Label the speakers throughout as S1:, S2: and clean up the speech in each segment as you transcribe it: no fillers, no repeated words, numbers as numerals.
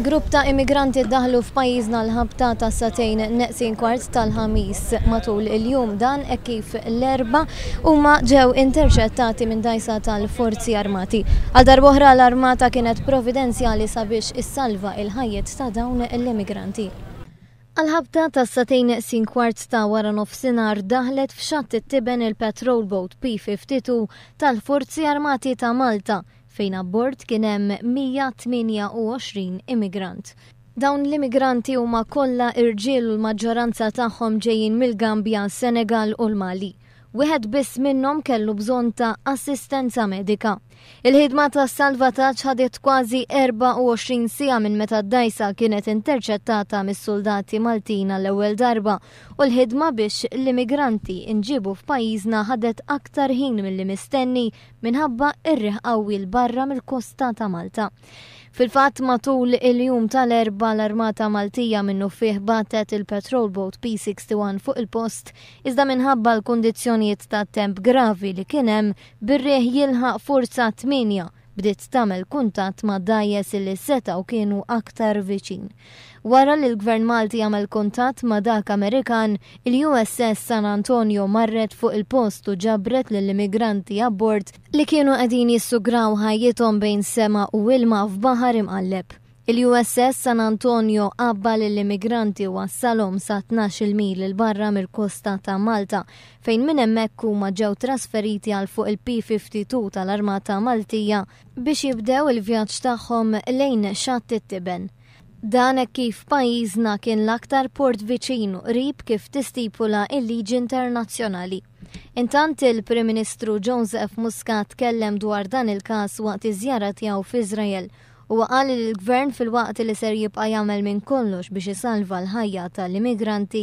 S1: Grupp ta' immigranti daħlu f'pajjiżna l-ħabta ta' sagħtejn neqsin kwart tal-Ħamis matul il-jum dan hekk kif l-Erbgħa huma ġew interċettati minn dgħajsa tal-Forzi Armati. Għal darb'oħra l-Armata kienet providenzjali sabiex issalva il-ħajjiet ta' dawn l-immigranti. Għall-ħabta ta' sagħtejn neqsin kwart ta' wara nofsinhar daħlet f'xatt it-tiben il-patrol boat P-52 tal-Forzi Armati ta' Malta fejn abbord kien hemm 128 immigrant. Dawn l-immigranti huma kollha irġiel u l-maġġoranza tagħhom ġejjin mill-Gambja, Senegal u l-Mali. Wieħed biss minnhom kellu bżonn ta' assistenza medika. Il-ħidma ta' salvataġġ ħadet kważi 24 siegħa minn meta d-dgħajsa kienet interċettata mis-suldati Maltin għall-ewwel darba u l-ħidma biex l-immigranti nġiebu f'pajjiżna ħadet aktar ħin milli mistenni minħabba r-riħ qawwi 'l barra mill-kosta ta' Malta. Fil-fatt matul il-jum tal-Erbgħa l-Armata Maltija minnufih bagħtet il-patrol boat P-61 fuq il-post iżda minħabba l-kundizzjonijiet tat-temp gravi li kien hemm bir-riħ jilħaq forza 8 bdiet tagħmel kuntatt ma' dgħajjes li setgħu kienu aktar viċin. Wara li l-Gvern Malti għamel kuntatt ma' dak Amerikan, il-USS San Antonio marret fuq il-post u ġabret lill-immigranti abbord li kienu qegħdin jissugraw ħajjithom bejn sema u ilma f'baħar imqalleb. Il-USS San Antonio għabba lill-immigranti u wassalhom sa 12-il mil 'il barra mill-kosta ta' Malta, fejn minn hemmhekk huma ġew trasferiti għal fuq il-P-52 tal-Armata Maltija biex jibdew il-vjaġġ tagħhom lejn Xatt it-Tiben. Dan hekk kif pajjiżna kien l-aktar port viċin u qrib kif tistipula l-liġi internazzjonali. Intant il-Prim Ministru Joseph Muscat tkellem dwar dan il-każ waqt iż-żjara tiegħu f'Iżrael. Huwa qal li l-Gvern filwaqt li ser jibqa' jagħmel minn kollox biex isalva l-ħajja tal-immigranti,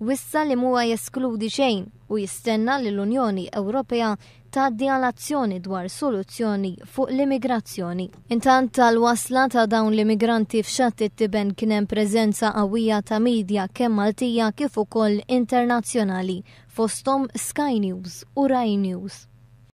S1: wissa li mhuwa jeskludi xejn u jistenna li l-Unjoni Ewropea tgħaddi għal azzjoni dwar soluzzjoni fuq l-immigrazzjoni. Intant tal-wasla ta' dawn l-immigranti f'Xatt it-Tiben kien hemm preżenza qawwija ta' media kemm Maltija kif ukoll internazzjonali, fosthom Sky News u Rai News.